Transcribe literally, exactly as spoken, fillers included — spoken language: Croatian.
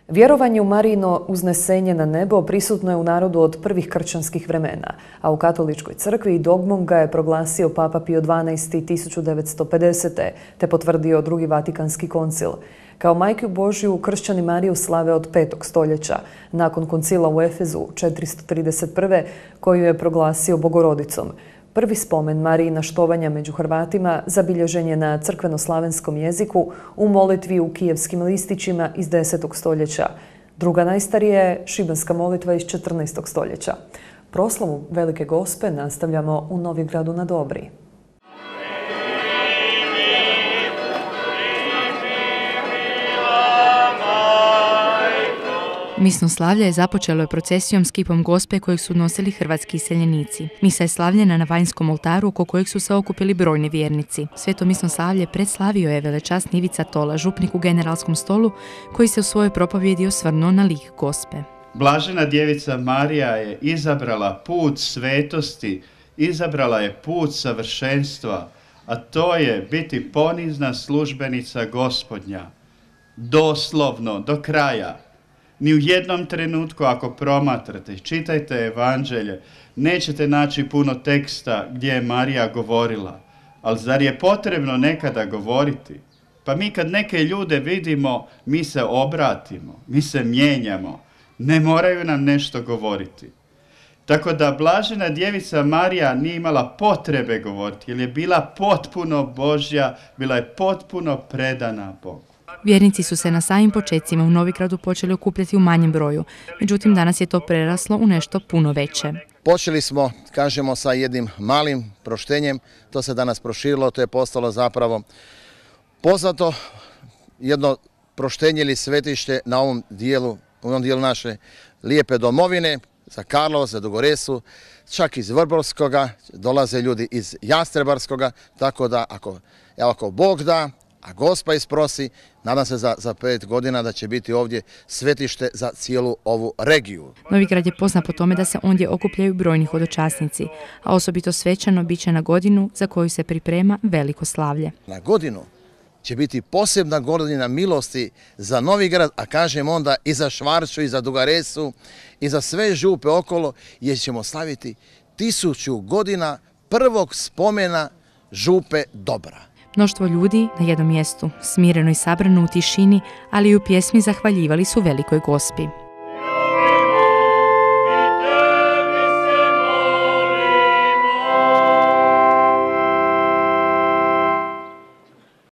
Vjerovanje u Marijino uznesenje na nebo prisutno je u narodu od prvih kršćanskih vremena, a u katoličkoj crkvi dogmom ga je proglasio Papa Pio dvanaesti. tisuću devetsto pedesete. te potvrdio Drugi Vatikanski koncil. Kao majku Božju kršćani Mariju slave od petog stoljeća, nakon koncila u Efezu četiristo trideset prve. koju je proglasio Bogorodicom. Prvi spomen Marijina štovanja među Hrvatima zabilježen je na crkveno-slavenskom jeziku u molitvi u kijevskim listićima iz desetog stoljeća. Druga najstarija je šibenska molitva iz četrnaestog stoljeća. Proslavu Velike Gospe nastavljamo u Novigradu na Dobri. Misno slavlje je započelo je procesijom s kipom Gospe kojeg su nosili hrvatski iseljenici. Misa je slavljena na vanjskom oltaru oko kojeg su se okupili brojni vjernici. Sveto misno slavlje predslavio je velečasni Ivica Tola, župnik u Generalskom stolu, koji se u svojoj propovjedi osvrnuo na lik Gospe. Blažena djevica Marija je izabrala put svetosti, izabrala je put savršenstva, a to je biti ponizna službenica Gospodnja. Doslovno, do kraja. Ni u jednom trenutku ako promatrate, čitajte evanđelje, nećete naći puno teksta gdje je Marija govorila. Ali zar je potrebno nekada govoriti? Pa mi kad neke ljude vidimo, mi se obratimo, mi se mijenjamo. Ne moraju nam nešto govoriti. Tako da blažena djevica Marija nije imala potrebe govoriti, jer je bila potpuno Božja, bila je potpuno predana Bogu. Vjernici su se na samim počecima u Novigradu počeli okupljati u manjem broju, međutim danas je to preraslo u nešto puno veće. Počeli smo, kažemo, sa jednim malim proštenjem, to se danas proširilo, to je postalo zapravo poznato jedno proštenje ili svetište na ovom dijelu, u ovom dijelu naše lijepe domovine, za Karlovac, za Dugoresu, čak iz Vrbovskoga, dolaze ljudi iz Jastrebarskoga, tako da ako, evo, ako Bog da, a Gospa isprosi, nadam se za, za pet godina da će biti ovdje svetište za cijelu ovu regiju. Novigrad je poznat po tome da se ondje okupljaju brojni hodočasnici, a osobito svečano bit će na godinu za koju se priprema veliko slavlje. Na godinu će biti posebna godina milosti za Novigrad, a kažem onda i za Švarču, i za Dugaresu, i za sve župe okolo, jer ćemo slaviti tisuću godina prvog spomena župe Dobra. Mnoštvo ljudi na jednom mjestu, smireno i sabrano u tišini, ali i u pjesmi zahvaljivali su Velikoj Gospi.